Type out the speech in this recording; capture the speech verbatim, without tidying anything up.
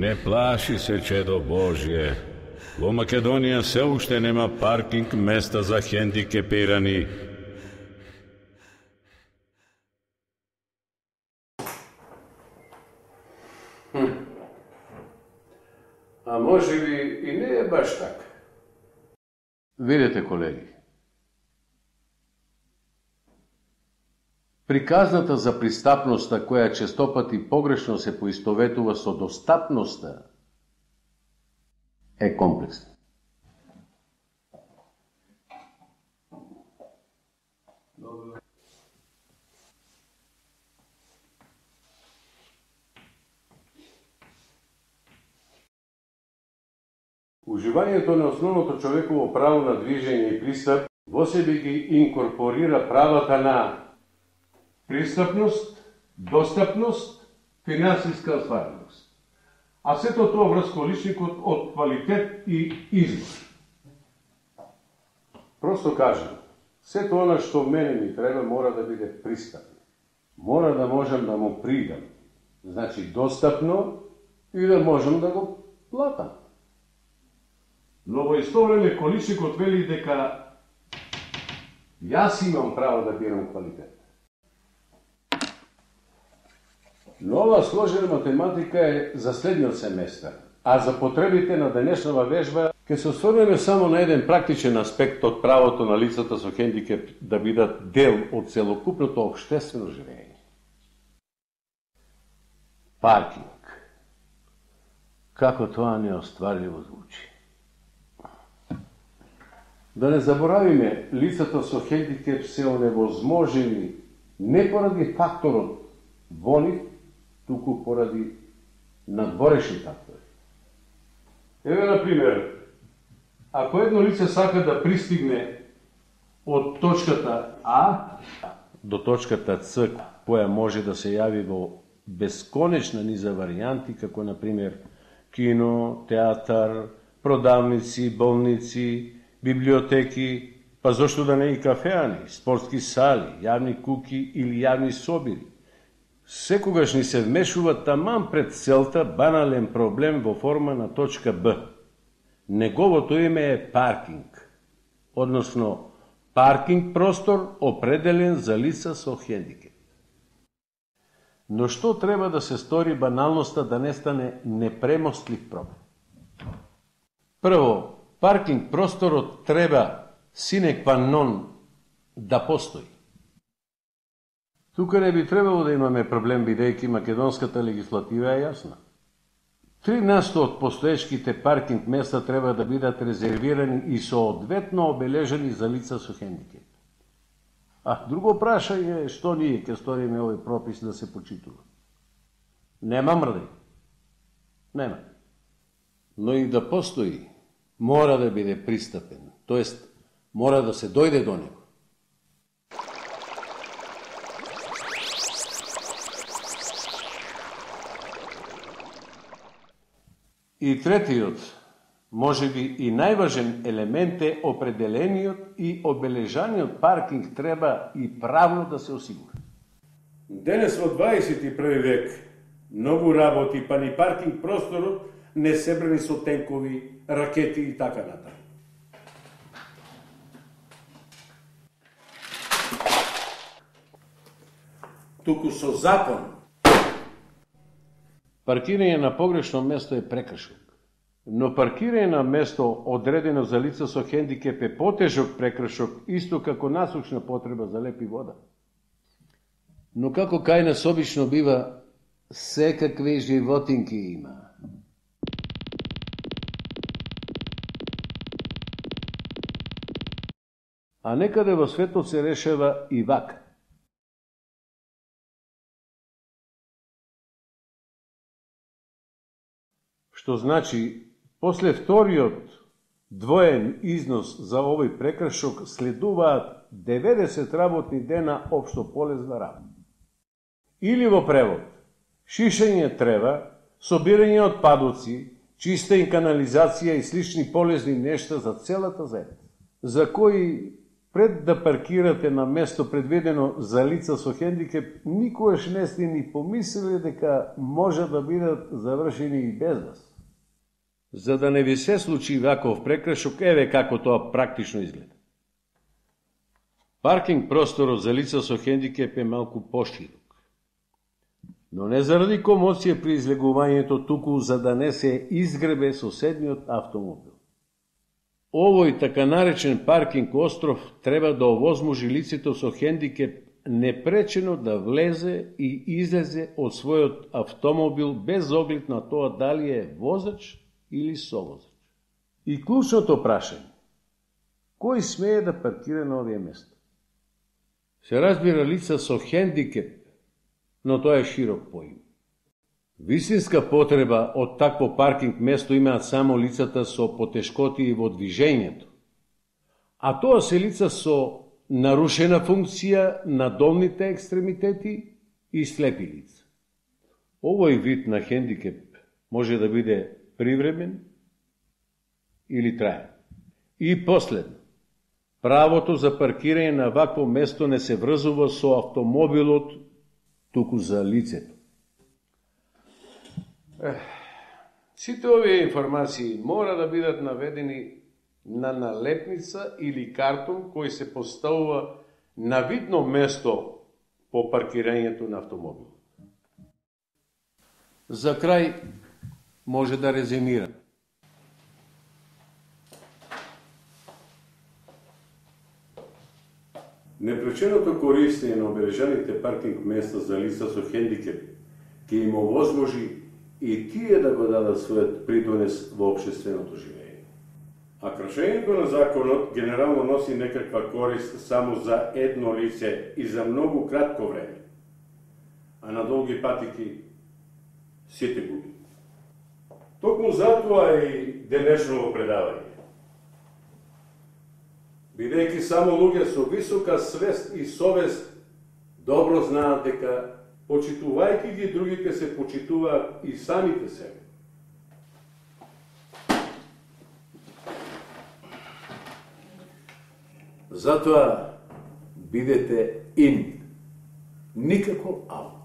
Не плаши се, чедо Божје. Во Македонија се уште нема паркинг места за хендикепирани. Хм. А може би и не е баш така. Видете, колеги, приказната за пристапноста, која честопати погрешно се поистоветува со достапноста, е комплексна. Уживањето на основното човеково право на движење и пристап во себе ги инкорпорира правата на пристапност, достапност, финансиска оствареност. А сето тоа врз количникот од квалитет и избор. Просто кажам, сето она што мене ми треба мора да биде пристапно. Мора да можам да му придам. Значи достапно и да можам да го платам. Но во исто време количникот вели дека јас имам право да бирам квалитет. Но ова сложена математика е за следниот семестар, а за потребите на денешнава вежба ќе се осврнеме само на еден практичен аспект од правото на лицата со хендикеп да бидат дел од целокупното општествено живење. Паркинг. Како тоа неостварливо звучи. Да не заборавиме, лицата со хендикеп се оневозможени не поради факторот во нив, туку поради надворешни фактори. Еве, например, ако едно лице сака да пристигне од точката А до точката С, која може да се јави во бесконечна низа варијанти, како, например, кино, театар, продавници, болници, библиотеки, па зошто да не и кафеани, спортски сали, јавни куки или јавни собири. Секогаш ни се вмешува таман пред целта банален проблем во форма на точка Б. Неговото име е паркинг, односно паркинг простор определен за лица со хендикеп. Но што треба да се стори баналноста да не стане непремостлив проблем? Прво, паркинг просторот треба sine qua non да постои. Тука не би требало да имаме проблем, бидејќи македонската легислатива е јасна. Три насто од постоечките паркинг места треба да бидат резервирани и соодветно обележени за лица со хендикеп. А друго прашање е што ние ќе сториме овој пропис да се почитува. Нема мрдај. Нема. Но и да постои, мора да биде пристапен, тоест мора да се дојде до него. И третиот, може би и најважен елемент е определениот и обележаниот паркинг треба и правно да се осигури. Денес во дваесет и први век многу работи, па ни паркинг просторот не себрани со тенкови, ракети и така натаму. Туку со закон. Паркирање на погрешно место е прекршок, но паркирање на место одредено за лица со хендикеп е потежок прекршок, исто како насущна потреба за леп и вода. Но како кај нас обично бива, секакви животинки има. А некаде во светот се решава и вака. Што значи, после вториот двоен износ за овој прекршок следуваат деветдесет работни дена општо полезна работа. Или во превод, шишење трева, собирање отпадоци, чиста и канализација и слични полезни нешта за целата земја, за кои пред да паркирате на место предвидено за лица со хендикеп, никогаш не сте ни помислили дека може да бидат завршени и без вас. За да не ви се случи ваков прекршок, еве како тоа практично изгледа. Паркинг просторот за лица со хендикеп е малку поширок. Но не заради комоција при излегувањето, туку за да не се изгребе соседниот автомобил. Овој така наречен паркинг остров треба да овозможи лицето со хендикеп непречено да влезе и излезе од својот автомобил без оглед на тоа дали е возач или совозач. И клучното прашање: кој смее да паркира на овие места? Се разбира лица со хендикеп, но тоа е широк поим. Вистинска потреба од такво паркинг место имаат само лицата со потешкоти во движењето, а тоа се лица со нарушена функција на долните екстремитети и слепи лица. Овој вид на хендикеп може да биде привремен или траен. И последно, правото за паркирање на вакво место не се врзува со автомобилот, туку за лицето. Сите овие информации мора да бидат наведени на налепница или картон кој се поставува на видно место по паркирањето на автомобил. За крај може да резимира. Непреченото користење на обележаните паркинг места за лица со хендикеп ќе им овозможи и тие да го дадат својот придонес во општественото живење. А кршењето на законот генерално носи некаква корист само за едно лице и за многу кратко време, а на долги патики сите губи. Токму затоа и денешното предавање. Бидејќи само луѓе со висока свест и совест добро знаат дека почитувајќи ги другите се почитуваат и самите себе. Затоа бидете ин, никако аут.